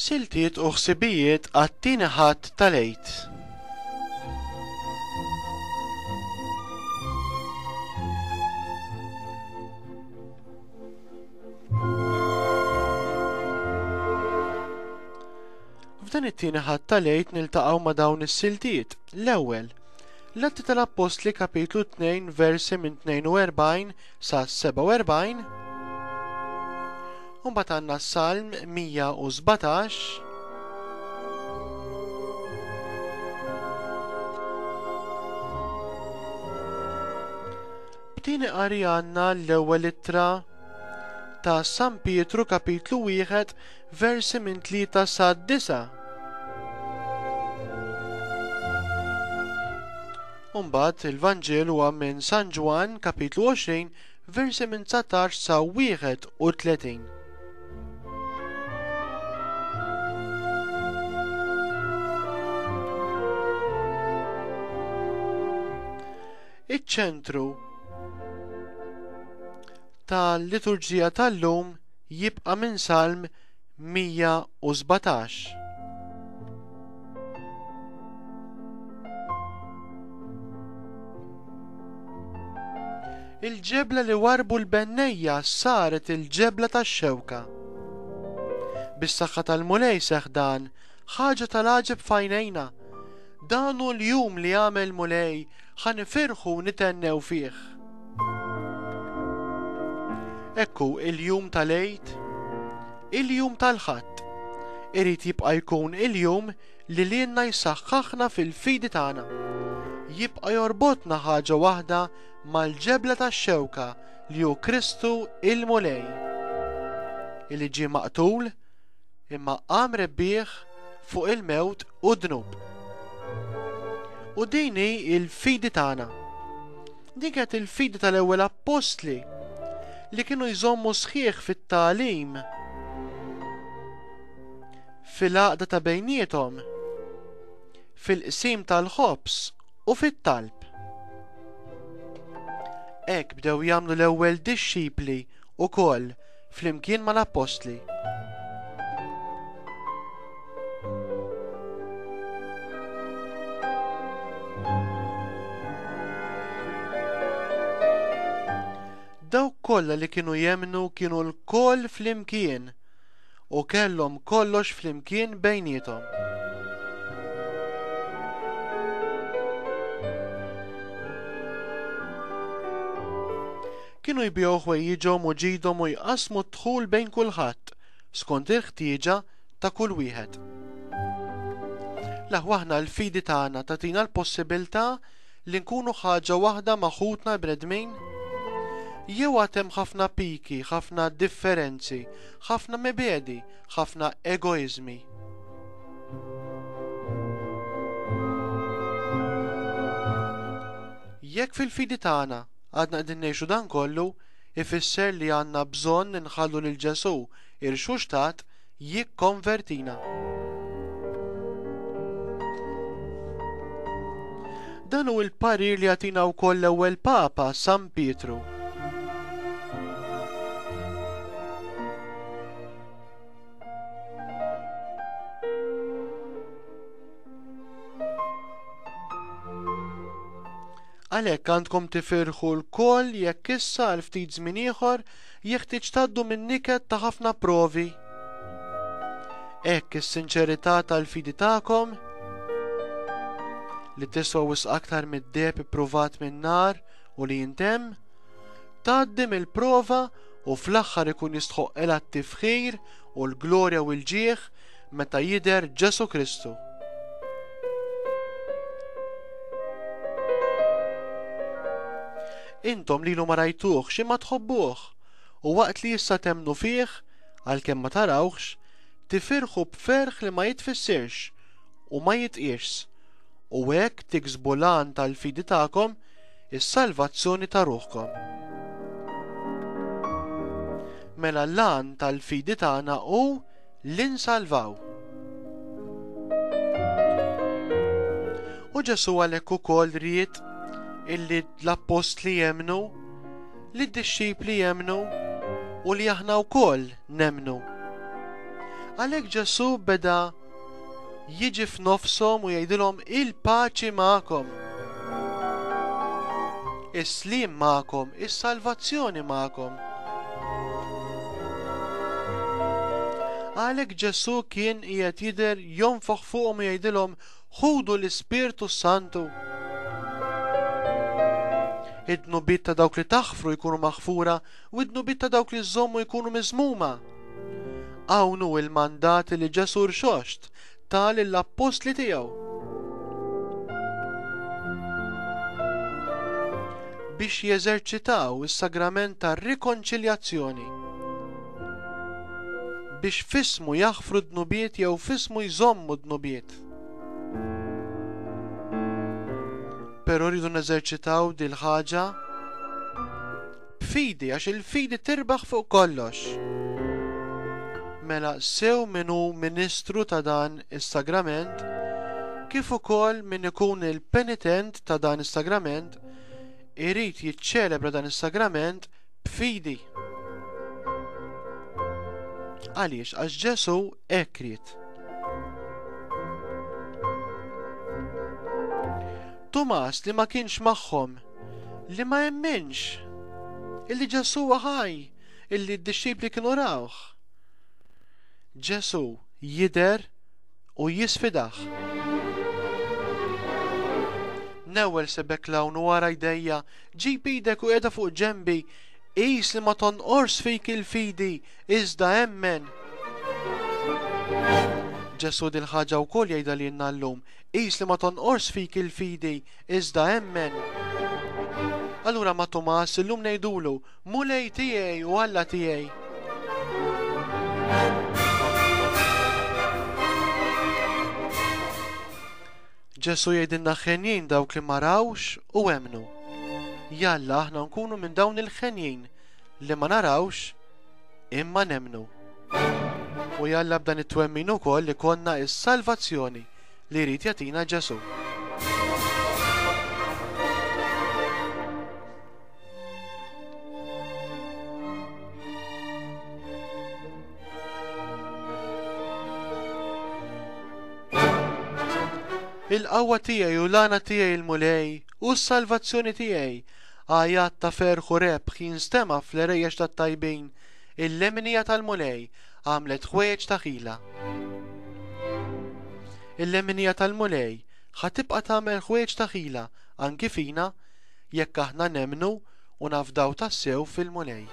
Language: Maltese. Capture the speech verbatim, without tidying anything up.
Siltiet u ħsibijiet għat-tieni Ħadd tal-Għid. F'dan it-tieni Ħadd tal-Għid niltaqgħu ma' dawn is-siltiet. L-ewwel, l-Atti tal-Appostli kapitlu tnejn versi minn tnejn u erbgħin sa sebgħa u erbgħin. U mbagħad għandna Salm mija u sbatax. B'tieni qari għandna l-ewwel ittra ta' San Pietru kapitlu wieħed versi minn tlieta sa disa'. U mbagħad il-Vanġelu huwa minn San Ġwann kapitlu għoxrin versi minn dsatax sa wieħed u tletin. Iċ-ċentru tal-liturġija tal-lum jibqa' minn Salm mija u sbatax. Il-ġebla li warbu l-bennejja saret il-ġebla tax-xewka. Bis-saħħa tal-Mulej seħħ dan, ħaġa tal-għaġeb f'għajnejna. Dan hu l-jum li għamel Mulej, ħa nifirħu u nitennew fih. Ekku il-jum tal-Għid, il-jum tal-Ħadd. Irid jibqa' jkun il-jum li lilna jsaħħaħna fil-fidi tagħna. Jibqa' jorbotna ħaġa waħda mal-ġebla tax-xewka li hu Kristu il-Mulej, illi ġie maqtul imma qam rebbieħ fuq il-mewt u d-dnub. U din hi l-fidi tagħna. Din kienet il-fidi tal-ewwel appostli li kienu jżommu sħiħ fit-tagħlim, fil-għaqda ta' bejniethom, fil-qsim tal-ħobż u fit-talb. Hekk bdew jagħmlu l-ewwel dixxipli wkoll flimkien mal-appostli. Dawk kollha li kienu jemmnu kienu lkoll flimkien u kellhom kollox flimkien bejniethom. Kienu jbigħu ħwejjiġhom u ġidhom u jqassmu d-dħul bejn kulħadd skont il-ħtieġa ta' kull wieħed. L-aħwa aħna l-fidi tagħna tagħtina l-possibilità li nkunu ħaġa waħda ma' ħutna l-bnedmin? Jew għad hemm ħafna piki, ħafna differenzi, ħafna mibedi, ħafna egoizmi? Jekk fil-fidi tagħna għadna qegħdin ngħixu dan kollu, ifisser li għandna bżonn inħallu lil Ġesù irxuxtat jikkonvertina. Dan hu l-parir li jagħtina wkoll l-ewwel Papa San Pietru. Għalhekk għandkom tifirħu lkoll jekk issa għal ftit żmien ieħor jeħtieġ tgħaddu minn niket ta' ħafna provi. Hekk is-sinċerità tal-fidi tagħkom li tiswa wisq aktar mid-deheb ippruvat min-nar u li jintemm, tgħaddi mill-prova u fl-aħħar ikun jistħoqqilha t-tifħir u l-glorja u l-ġieħ meta jidher Ġesù Kristu. Intom lilu ma rajtuhx imma tħobbuh, u waqt li issa temnu fih, għalkemm ma tarawhx, tifirħu b'ferħ li ma jitfissirx u ma jitqiesx, u hekk tiksbu l-għan tal-fidi tagħkom, is-salvazzjoni ta' ruħkom. Mela l-għan tal-fidi tagħna hu li nsalvaw. U Ġesù għalhekk ukoll ried illi l-appostli jemmnu, li d-dixxipli jemmnu u li aħna wkoll nemmnu. Għalhekk Ġesù beda jiġi f'nofshom u jgħidilhom il-paċi magħkom. Is-sliem magħkom, is-salvazzjoni magħkom. Għalhekk Ġesù kien qiegħed jidher jonfoħ fuqhom u jgħidilhom ħudu l-Ispirtu Santu. Id-dnubiet ta' dawk li taħfru jkunu maħfura u id-dnubiet ta' dawk li żommu jkunu miżmuma. Hawn hu il-mandat li Ġesù rxoxt ta lill-appostli tiegħu. Biex jeżerċitaw is-sagrament tar-rikonċiljazzjoni. Biex fismu jaħfru d-dnubiet jew fismu jżommu d-dnubiet. Però rridu neżerċitaw dil-ħaġa b'fidi, għax il-fidi tirbaħ fuq kollox. Mela sew min hu ministru ta' dan is-sagrament, kif ukoll min ikun il-penitent ta' dan is-sagrament, irid jiċċelebra dan is-sagrament b'fidi. Għaliex? Għax Ġesù hekk ried. Tumas li ma kienx magħhom, li ma emminx illi Ġesù huwa ħaj, illi d-dixxipli kienu rawh. Ġesù jidher u jisfidah. Newwel sebek lawn u wara jdejja, ġib idek u qiegħda fuq ġenbi, qis li ma tonqors fik il-fidi, iżda emmen. Ġesù dil-ħaġa wkoll jgħidha lilna llum, qis li ma tonqors fik il-fidi, iżda emmen. Allura ma' Tumas illum ngħidulu, Mulej tiegħi u Alla tiegħi. Ġesù jgħidilna ħenjin dawk li ma rawx u emmnu. Jalla aħna nkunu minn dawn il-ħenjin li ma narawx imma nemmnu. U jalla b'dan it-twemmin ukoll li konna is-salvazzjoni li jrid jagħtina Ġesù. Il-qawwa tiegħi u l-għana tiegħi il-Mulej u s-salvazzjoni tiegħi, għajat ta' ferħ u rebħ jinstema' fl-erejjex tat-tajbin, il-leminija tal-Mulej għamlet ħwejjeġ ta' ħila. Il-leminija tal-Mulej ħa tibqa' tagħmel ħwejjeġ ta' ħila anki fina jekk aħna nemmnu u nafdaw tassew fil-Mulej.